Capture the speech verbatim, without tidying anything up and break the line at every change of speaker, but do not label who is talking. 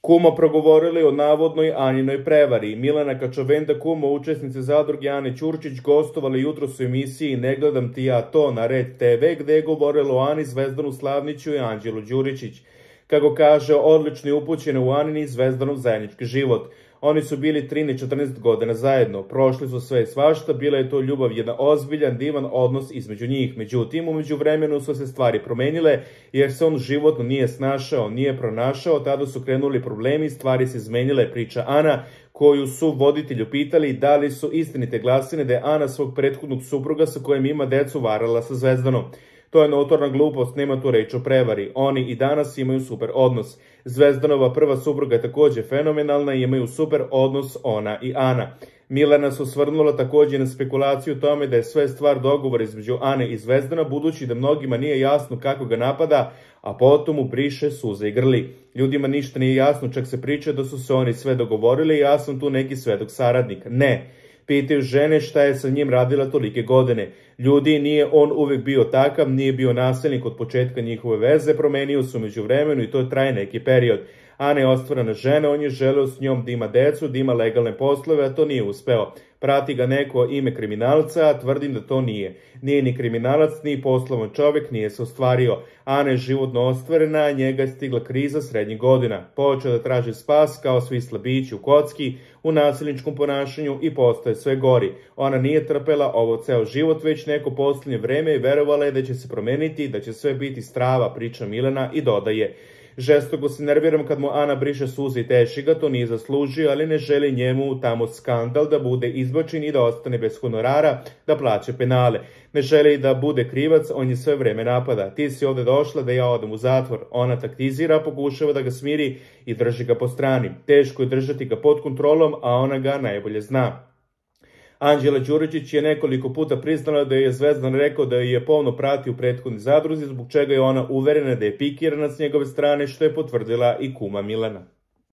Kuma progovorili o navodnoj Anjinoj prevari. Milana Kačavenda, kuma učesnice zadruge Ane Ćurčić, gostovali jutros u emisiji Ne gledam ti ja to na Red te ve, gde je govorilo o Ani, Zvezdanu Slavniću i Anđelu Đuričić. Kako kaže, odlično je upućena u Anin i Zvezdanov zajednički život. Oni su bili trinaest četrnaest godina zajedno, prošli su sve i svašta, bila je to ljubav, jedan ozbiljan, divan odnos između njih. Međutim, umeđu vremenu su se stvari promenile, jer se on životno nije snašao, nije pronašao, tada su krenuli problemi, stvari se izmenile, priča Ana, koju su voditelju pitali da li su istinite glasine da je Ana svog prethodnog supruga sa kojim ima decu varala sa Zvezdanom. To je notorna glupost, nema tu reč o prevari. Oni i danas imaju super odnos. Zvezdanova prva supruga je također fenomenalna i imaju super odnos ona i Ana. Milana se osvrnula također na spekulaciju o tome da je sve stvar dogovora između Ane i Zvezdana, budući da mnogima nije jasno kako ga napada, a potom mu briše suze i grli. Ljudima ništa nije jasno, čak se priča da su se oni sve dogovorili i ja sam tu neki svedok saradnik. Ne. Pitaju žene šta je sa njim radila tolike godine. Ljudi, nije on uvek bio takav, nije bio nasilnik od početka njihove veze, promenio se umeđu vremenu i to traje neki period. Ana je ostvarena žena, on je želeo s njom da ima decu, da ima legalne poslove, a to nije uspeo. Prati ga neko ime kriminalca, a tvrdim da to nije. Nije ni kriminalac, ni poslovan čovjek, nije se ostvario. Ana je životno ostvarena, a njega je stigla kriza srednjih godina. Počeo da traži spas kao svi slabići u kocki, u nasilničkom ponašanju i postaje sve gori. Ona nije trpela ovo ceo život, već neko posljednje vreme i verovala je da će se promeniti, da će sve biti strava, priča Milana i dodaje. Žestoko se nerviram kad mu Ana briše suze i teši ga, to nije zaslužio, ali ne želi njemu tamo skandal da bude izbačen i da ostane bez honorara, da plaće penale. Ne želi da bude krivac, on je sve vreme napada. Ti si ovde došla da ja odem u zatvor. Ona taktizira, pokušava da ga smiri i drži ga po strani. Teško je držati ga pod kontrolom, a ona ga najbolje zna. Anđela Đuričić je nekoliko puta priznala da je Zvezdan rekao da je pomno pratio u prethodnoj zadruzi, zbog čega je ona uverena da je pikirana s njegove strane, što je potvrdila i kuma Milana.